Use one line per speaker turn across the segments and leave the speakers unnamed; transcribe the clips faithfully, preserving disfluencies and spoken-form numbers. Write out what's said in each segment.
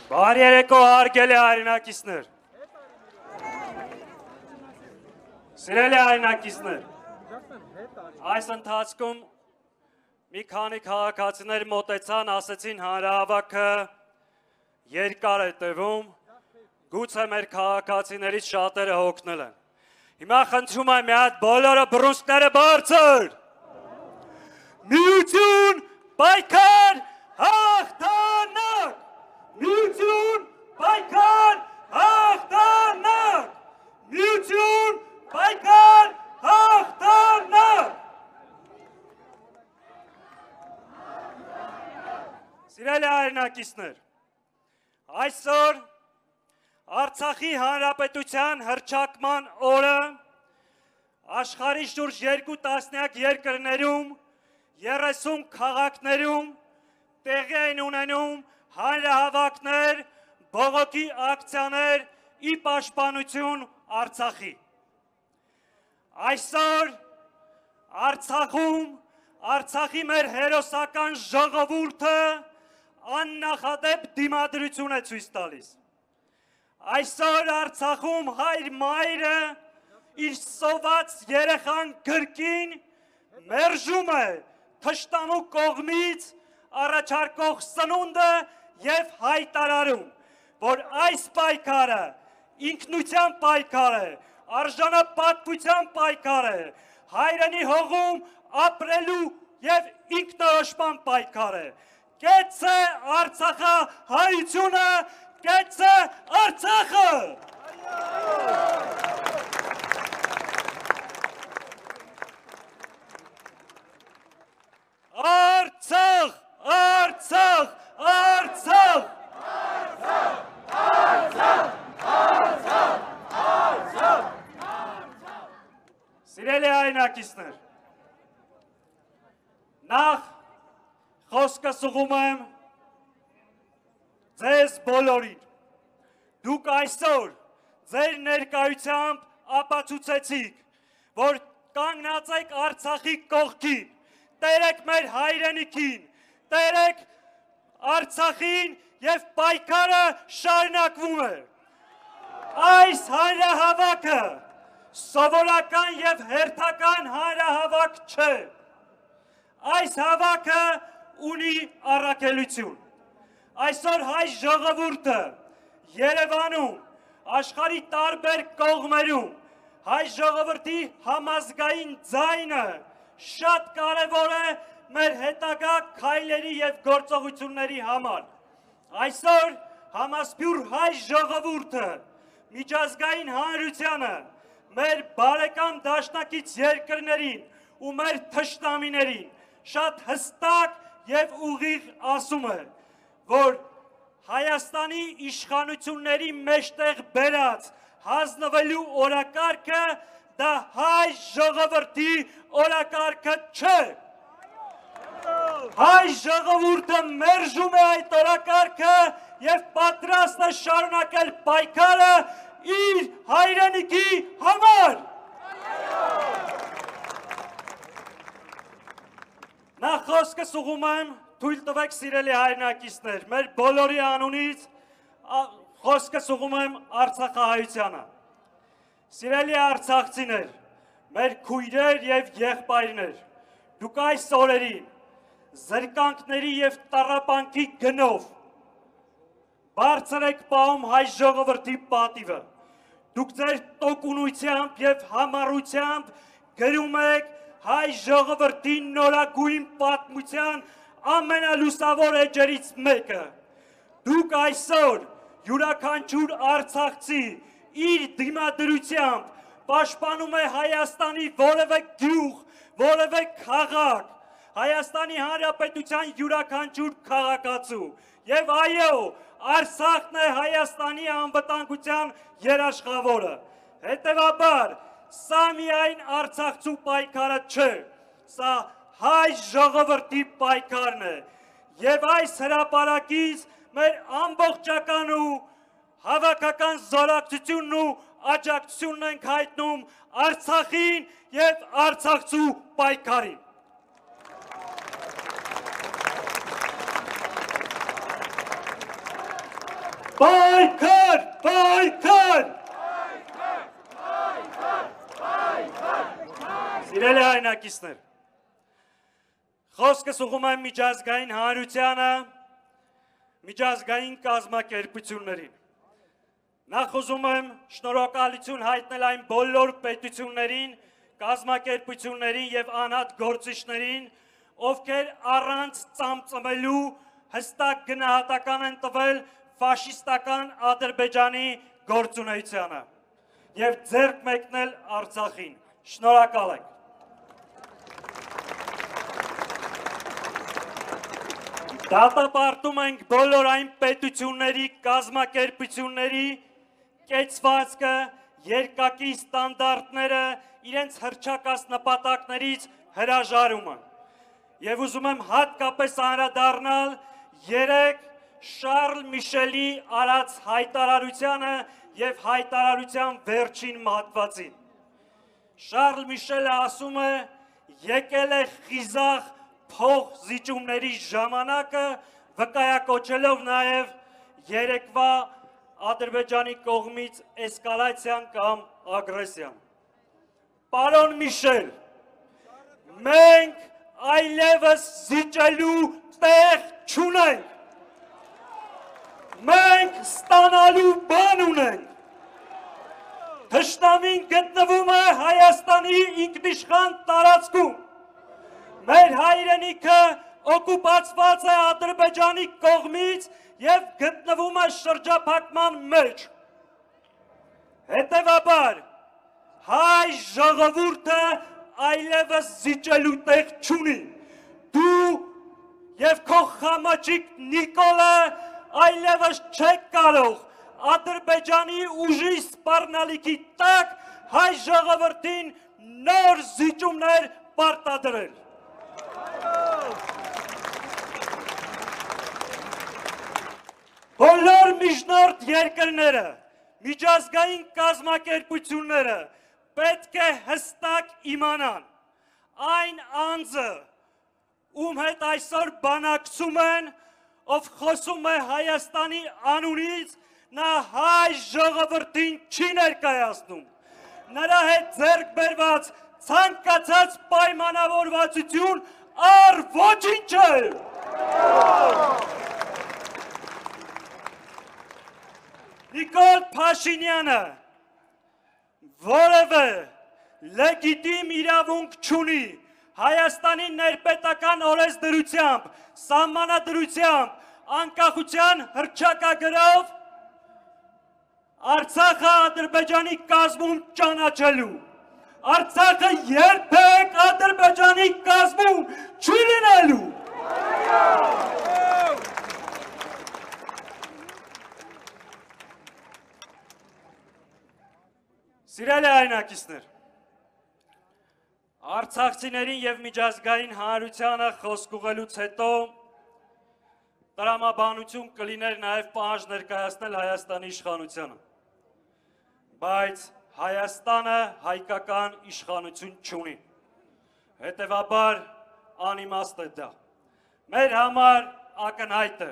Բարի երեկո հարգելի հայրենակիցներ։ Սիրելի հայրենակիցներ, այս ընթացքում մի քանի քաղաքացիներ մոտեցան, ասեցին հանրահավաքը երկար է տևում, գուցե մեր քաղաքացիներից շատերը հոգնել են։ Հիմա խնդրում եմ մի հատ բոլորը բռունցքները բարձր։ Միություն, պայքար, հաղթանակ։ Միություն, պայքար, հաղթանակ։ Միություն, պայքար, հաղթանակ։ Սիրելի հայրենակիցներ, այսօր Արցախի Հանրապետության հռչակման օրը աշխարհի շուրջ երկու տասնյակ երկրներում, երեսուն քաղաքներում տեղի են ունենում հանրահավաքներ, բողոքի ակցիաներ ի պաշտպանություն Արցախի։ Այսօր Արցախում Արցախի մեր հերոսական ժողովուրդը աննախադեպ դիմադրություն է ցույց տալիս։ Այսօր Արցախում հայր մայրը իր սոված երեխան գրկին մերժում է թշնամու կողմից առաջարկող սնունդը և հայտարարում, որ այս պայքարը ինքնության պայքար է, արժանապատվության պայքար է, հայրենի հողում ապրելու և ինքնորոշման պայքար է։ Կեցցե Արցախը հայությունը, կեցցե Արցախը։ Արցախ, Արցախ, Արցախ, Արցախ, Արցախ, Արցախ։ Սիրելի հայրենակիցներ, նախ խոսքս ուղղում եմ ձեզ բոլորին։ Դուք այսօր ձեր ներկայությամբ ապացուցեցիք, որ կանգնած եք Արցախի կողքին, տերեք մեր հայրենիքին, տերեք Արցախին և պայքարը շարունակվում է։ Այս հանրահավաքը սովորական և հերթական հանրահավաք չէ։ Այս հավաքը ունի առաքելություն։ Այսօր հայ ժողովուրդը Երևանում, աշխարհի տարբեր կողմերում հայ ժողովրդի համազգային ձայնը շատ կարևոր է մեր հետագա քայլերի և գործողությունների համար։ Այսօր համասփյուր հայ ժողովուրդը միջազգային հանրությանը, մեր բարեկամ դաշնակից երկրներին ու մեր թշնամիներին շատ հստակ և ուղիղ ասում է, որ Հայաստանի իշխանությունների մեջտեղ բերած հանձնվելու օրակարգը դա հայ ժողովրդի օրակարգը չէ։ Հայ ժողովուրդը մերժում է այդ օրակարգը և պատրաստ է շարունակել պայքարը իր հայրենիքի համար։ Նախ խոսքս ուղղում եմ, թույլ տվեք սիրելի հայրենակիցներ, մեր բոլորի անունից խոսքս ուղղում եմ արցախահայությանը։ Սիրելի արցախցիներ, մեր քույրեր և եղբայրներ, դուք այս օրերին զրկանքների և տառապանքի գնով բարձր եք պահում հայ ժողովրդի պատիվը։ Դուք ձեր տոկունությամբ և համառությամբ գրում եք հայ ժողովրդի նորագույն պատմության ամենալուսավոր էջերից մեկը։ Դուք այսօր յուրաքանչյուր արցախցի իր դիմադրությամբ պաշտպանում է Հայաստանի որևէ գյուղ, որևէ քաղաք, Հայաստանի Հանրապետության յուրաքանչյուր քաղաքացու։ Եվ այո, Արցախն է Հայաստանի անվտանգության երաշխավորը։ Հետևաբար, սա միայն արցախցու պայքարը չէ, սա հայ ժողովրդի պայքարն է։ Եվ այս հրապարակից մեր ամբողջական ու հավաքական զորակցությունն ու աջակցությունն ենք հայտնում Արցախին և արցախցու պայքարին։ Պայքար, պայքար։ Սիրելի հայրենակիցներ, խոսքս ուղղում եմ միջազգային հանրությանը, միջազգային կազմակերպություններին։ Նախ ուզում եմ շնորհակալություն հայտնել այն բոլոր պետություններին, կազմակերպություններին եւ անհատ գործիչներին, ովքեր առանց ծամծմելու հստակ գնահատական են տվել ֆաշիստական Ադրբեջանի գործունեությանը եւ ձեռք մեկնել Արցախին։ Շնորհակալ ենք։ Դատապարտում ենք բոլոր այն պետությունների, կազմակերպությունների կեցվածքը, երկակի ստանդարտները, իրենց հռչակած նպատակներից հրաժարումը։ Եվ ուզում եմ հատկապես անդրադառնալ երեք Շարլ Միշելի արած հայտարարությանը եւ հայտարարության վերջին մատվածին։ Շարլ Միշելը ասում է, եկել է խիզախ փող զիջումների ժամանակը, վկայակոչելով նաեւ երեկվա Ադրբեջանի կողմից էսկալացիան կամ ագրեսիան։ Պարոն Միշել, մենք այլևս զիջելու տեղ չունենք։ Մենք ստանալու բան ունենք։ Թշնամին գտնվում է Հայաստանի ինքնիշխան տարածքում։ Մեր հայրենիքը օկուպացված է Ադրբեջանի կողմից եւ գտնվում է շրջափակման մեջ։ Հետևաբար հայ ժողովուրդը այլևս զիջելու տեղ չունի։ Դու եւ քո խամաչիկ Նիկոլը այլևս չեք կարող Ադրբեջանի ուժի սպառնալիքի տակ հայ ժողովրդին նոր զիջումներ պարտադրել։ Բոլոր միջնորդ երկրները, միջազգային կազմակերպությունները պետք է հստակ իմանան այն անձը, ում հետ այսօր բանակցում են, ով խոսում է Հայաստանի անունից, նա հայ ժողովրդին չի ներկայացնում։ Նրա հետ ձեռք բերված ցանկացած պայմանավորվածություն առ ոչինչ է։ Նիկոլ Փաշինյանը որևէ լեգիտիմ իրավունք չունի Հայաստանի ներպետական օրենսդրությամբ, սահմանադրությամբ, անկախության հռչակագրով Արցախը Ադրբեջանի կազմում ճանաչելու։ Արցախը երբեք Ադրբեջանի կազմում չի լինելու։ Սիրելի հայրենակիցներ, արցախցիներին եւ միջազգային հանրությանը խոսք ուղղելուց հետո տրամաբանություն կլիներ նաեւ պահանջ ներկայացնել Հայաստանի իշխանությանը։ Բայց Հայաստանը հայկական իշխանություն չունի։ Հետևաբար անիմաստ է դա։ Մեր համար ակնհայտ է,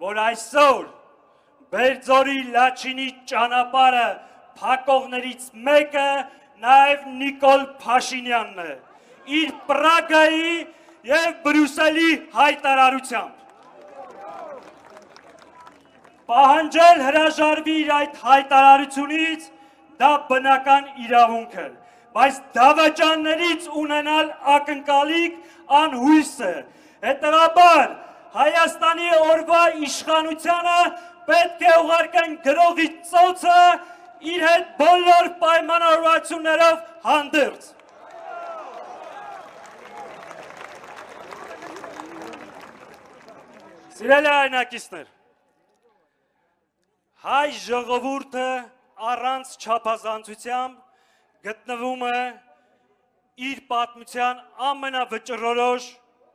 որ այսօր Բերձորի Լաչինի ճանապարհը փակողներից մեկը նաև Նիկոլ Փաշինյանն է, իր Պրագայի և Բրյուսելի հայտարարությամբ։ Պահանջել հրաժարվի իր այդ հայտարարությունից դա բնական իրավունք է, բայց դավաճաններից ունենալ ակնկալիք անհույս է։ Հետևաբար Հայաստանի օրվա իշխանությանը պետք է ուղարկեն գրողի ծոցը իր հետ բոլոր պայմանավորվածություններով հանդերձ։ Սիրելի հայրենակիցներ, հայ ժողովուրդը առանց չափազանցությամբ գտնվում է իր պատմության ամենավճռորոշ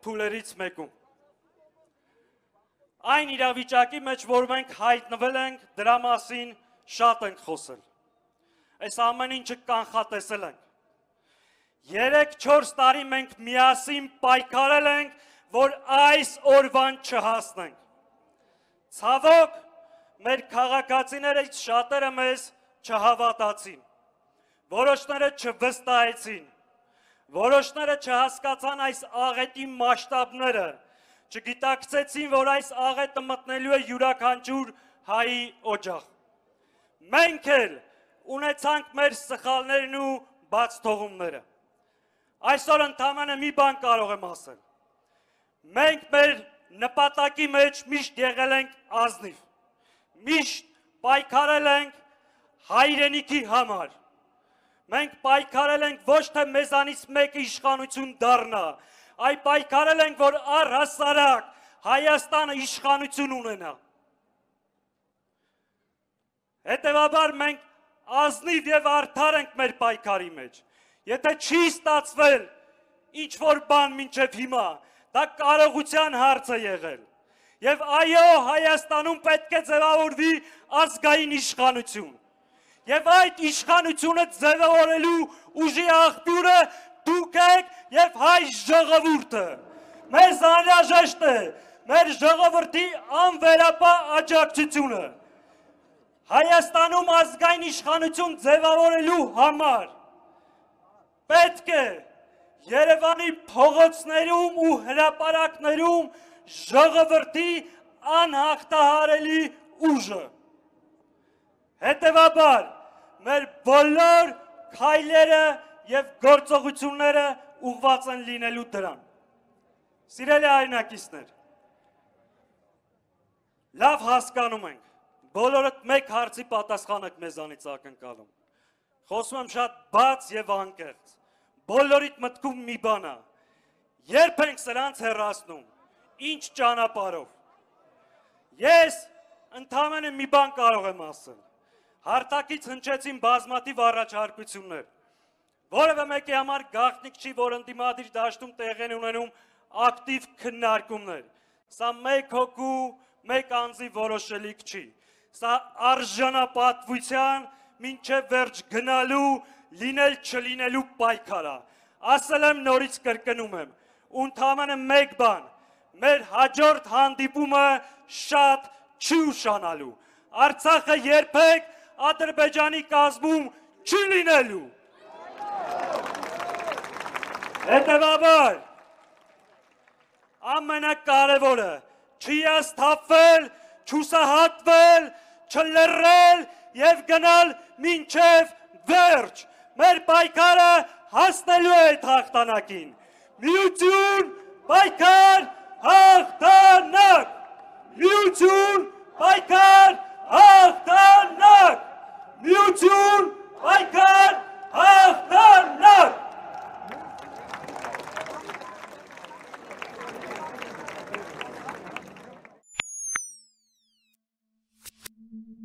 փուլերից մեկում։ Այն իրավիճակի մեջ, որ մենք հայտնվել ենք, դրա մասին շատ ենք խոսել։ Այս ամեն ինչը կանխատեսել ենք։ Երեք-չորս տարի մենք միասին պայքարել ենք, որ այս օրվան չհասնենք։ Ցավոք, մեր քաղաքացիներից շատերը մեզ չհավատացին, որոշները չվստահեցին, որոշները չհասկացան այս աղետի մասշտաբները, չգիտակցեցին, որ այս աղետը մտնելու է յուրաքանչյուր հայի օջախ։ Մենք էլ ունեցանք մեր սխալներն ու բաց թողումները։ Այսօր ընդամենը մի բան կարող եմ ասել։ Մենք մեր նպատակի մեջ միշտ եղել ենք ազնիվ, միշտ պայքարել ենք հայրենիքի համար։ Մենք պայքարել ենք ոչ թե մեզանից մեկը իշխանություն դառնա, այլ պայքարել ենք, որ առհասարակ Հայաստանը իշխանություն ունենա։ Հետևաբար մենք ազնիվ եւ արդար ենք մեր պայքարի մեջ։ Եթե չի ստացվել ինչ-որ բան մինչև հիմա, դա կարողության հարց է եղել։ Եվ այո, Հայաստանում պետք է ձևավորվի ազգային իշխանություն։ Եվ այդ իշխանությունը ձևավորելու ուժի աղբյուրը դուք եք եւ հայ ժողովուրդը։ Մեզ անհրաժեշտ է մեր ժողովրդի անվերապահ աջակցությունը։ Հայաստանում ազգային իշխանություն ձևավորելու համար պետք է Երևանի փողոցներում ու հրապարակներում ժողովրդի անհաղթահարելի ուժը։ Հետևաբար մեր բոլոր քայլերը եւ գործողությունները ուղղված են լինելու դրան։ Սիրելի հայրենակիցներ, լավ հասկանում ենք, բոլորդ մեկ հարցի պատասխան եք մեզանից ակնկալում։ Խոսում եմ շատ բաց եւ անկեղծ։ Բոլորիդ մտքում մի բան է, երբ ենք սրանց հեռացնում, ինչ ճանապարհով։ Ես ընդամենը մի բան կարող եմ ասել։ Հարթակից հնչեցին բազմաթիվ առաջարկություններ, որևէ մեկի համար գաղտնիք չի, որ ընդդիմադիր դաշտում տեղի են ունենում ակտիվ քննարկումներ։ Սա մեկ հոգու, մեկ անձի որոշելիք չի։ Սա արժանապատվության մինչև վերջ գնալու, լինել չլինելու պայքար է։ Ասել եմ, նորից կրկնում եմ, ընդամենը մեկ բան, մեր հաջորդ հանդիպումը շատ չի ուշանալու։ Արցախը երբեք Ադրբեջանի կազմում չի լինելու։ Հետևաբար, ամենակարևորը չհիասթափվել, չհուսահատվել, չլռել եւ գնալ մինչև վերջ։ Մեր պայքարը հասնելու է այդ հաղթանակին։ Միություն, պայքար, հաղթանակ։